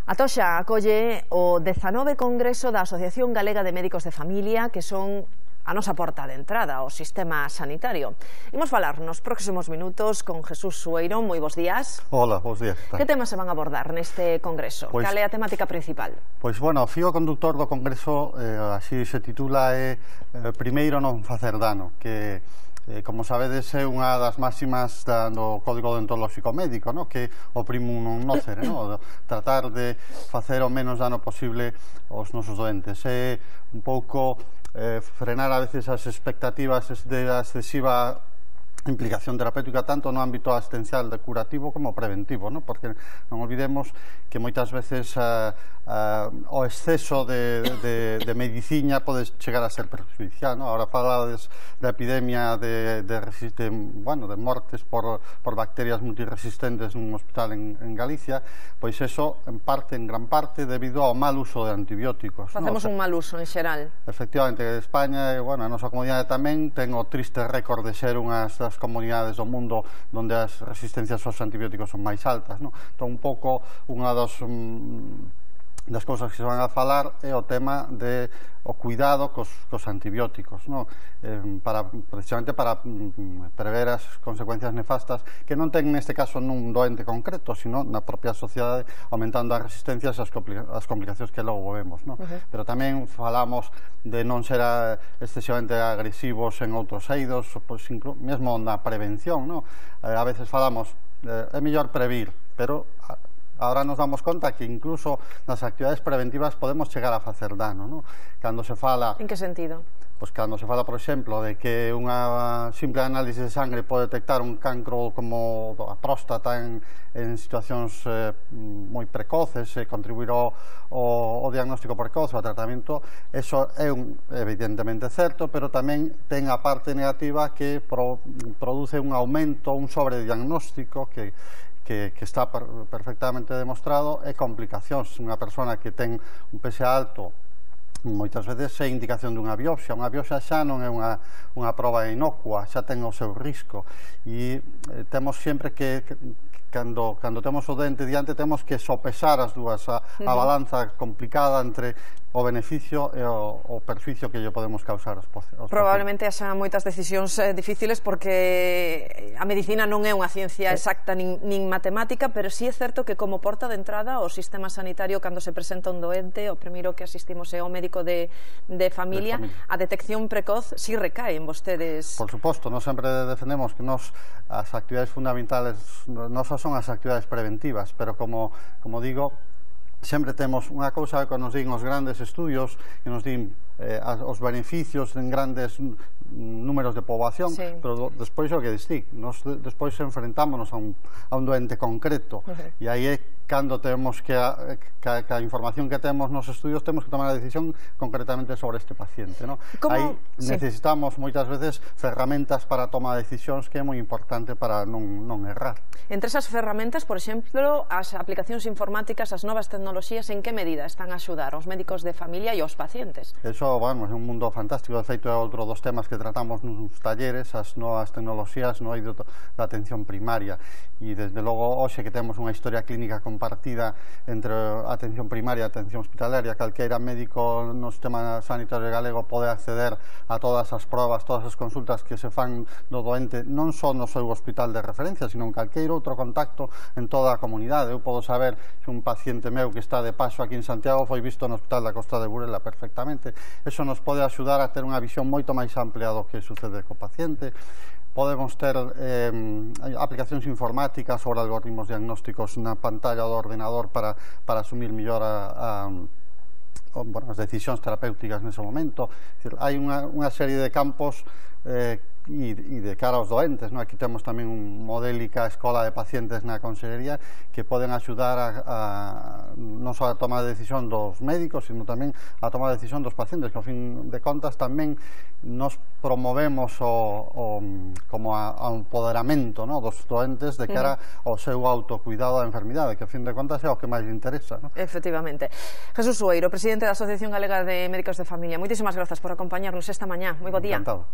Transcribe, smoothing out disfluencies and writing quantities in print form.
A Toxa acolle o 19 Congreso da Asociación Galega de Médicos de Familia, que son a nosa porta de entrada ao sistema sanitario. Imos falar nos próximos minutos con Jesús Sueiro. Moi bons días. Hola, bons días. Que temas se van a abordar neste Congreso? Cal é a temática principal? Pois, bueno, o fío conductor do Congreso, así se titula, é primeiro non facer dano, que como sabedes é unha das máximas do Código Deontolóxico Médico, no? Que o primum non nocere, no? Tratar de facer o menos dano posible aos nosos doentes. É un pouco frenar a veces as expectativas de excesiva implicación terapéutica tanto no ámbito asistencial de curativo como preventivo, ¿no? Porque non olvidemos que moitas veces o exceso de medicina pode chegar a ser perjudicial, ¿no? Ahora falades da epidemia de mortes por bacterias multiresistentes nun hospital en Galicia, pois eso en gran parte debido ao mal uso de antibióticos. Facemos un mal uso en xeral. Efectivamente, España, a nosa comunidade tamén ten o triste récord de ser unhas das comunidades do mundo onde as resistencias aos antibióticos son máis altas, no? Entón, un pouco, unha das cousas que se van a falar é o tema de o cuidado cos antibióticos, no? Precisamente para prever as consecuencias nefastas que non ten neste caso nun doente concreto, sino na propia sociedade, aumentando as resistencias e as complicacións que logo vemos, no? Pero tamén falamos de non ser excesivamente agresivos en outros eidos, pois, mesmo na prevención, no? A veces falamos, é mellor previr, pero ahora nos damos conta que incluso nas actividades preventivas podemos chegar a facer dano, no? Cando se fala... En que sentido? Pois cando se fala, por exemplo, de que unha simple análise de sangre pode detectar un cancro como a próstata en situacións moi precoces e contribuir ao diagnóstico precoce, ao tratamento, eso é evidentemente certo, pero tamén ten a parte negativa que produce un aumento, un sobrediagnóstico que está perfectamente demostrado, e complicacións. Unha persona que ten un PSA alto moitas veces é indicación dunha biopsia. Unha biopsia xa non é unha proba inocua, xa ten o seu risco, e temos sempre que cando temos o dente diante temos que sopesar as dúas, a balanza complicada entre o beneficio e o perjuicio que lle podemos causar aos pacientes. Probablemente haxa moitas decisións difíciles porque a medicina non é unha ciencia exacta nin matemática, pero sí é certo que como porta de entrada ao sistema sanitario, cando se presenta un doente, o primeiro que asistimos é ao médico de familia. A detección precoz sí recae en vostedes. Por suposto, nós sempre defendemos que as actividades fundamentales non son as actividades preventivas, pero como digo, sempre temos unha cousa que nos din os grandes estudios, que nos din os beneficios en grandes números de poboación, pero despois o que distic, despois enfrentámonos a un doente concreto, e aí é cando temos que a información que temos nos estudios temos que tomar a decisión concretamente sobre este paciente, no? Aí necesitamos moitas veces ferramentas para tomar decisións, que é moi importante para non errar. Entre esas ferramentas, por exemplo, as aplicacións informáticas, as novas tecnoloxías, en que medida están a axudar aos médicos de familia e aos pacientes? Eso, é un mundo fantástico. De feito, é outro dos temas que tratamos nos talleres, as novas tecnoloxías no eido da atención primaria, e desde logo hoxe que temos unha historia clínica compartida entre a atención primaria e a atención hospitalaria, calqueira médico no sistema sanitario galego pode acceder a todas as probas, todas as consultas que se fan do doente, non só no seu hospital de referencia, sino en calqueiro outro contacto en toda a comunidade. Eu podo saber se un paciente meu que está de paso aquí en Santiago foi visto no hospital da Costa de Burela perfectamente. Eso nos pode axudar a ter unha visión moito máis amplia do que sucede co paciente. Podemos ter aplicacións informáticas sobre algoritmos diagnósticos na pantalla do ordenador para asumir mellor as decisións terapéuticas nese momento. Hai unha serie de campos e de cara aos doentes, no? Aquí temos tamén un modélica escola de pacientes na Consellería que poden axudar non só a tomar a decisión dos médicos, sino tamén a tomar a decisión dos pacientes, que ao fin de contas tamén nos promovemos como ao empoderamento, no? Dos doentes de cara ao seu autocuidado da enfermidade, que ao fin de contas é o que máis interesa, no? Efectivamente. Jesús Sueiro, presidente da Asociación Galega de Médicos de Familia, moitísimas grazas por acompañarnos esta mañá. Moi bo día. Encantado.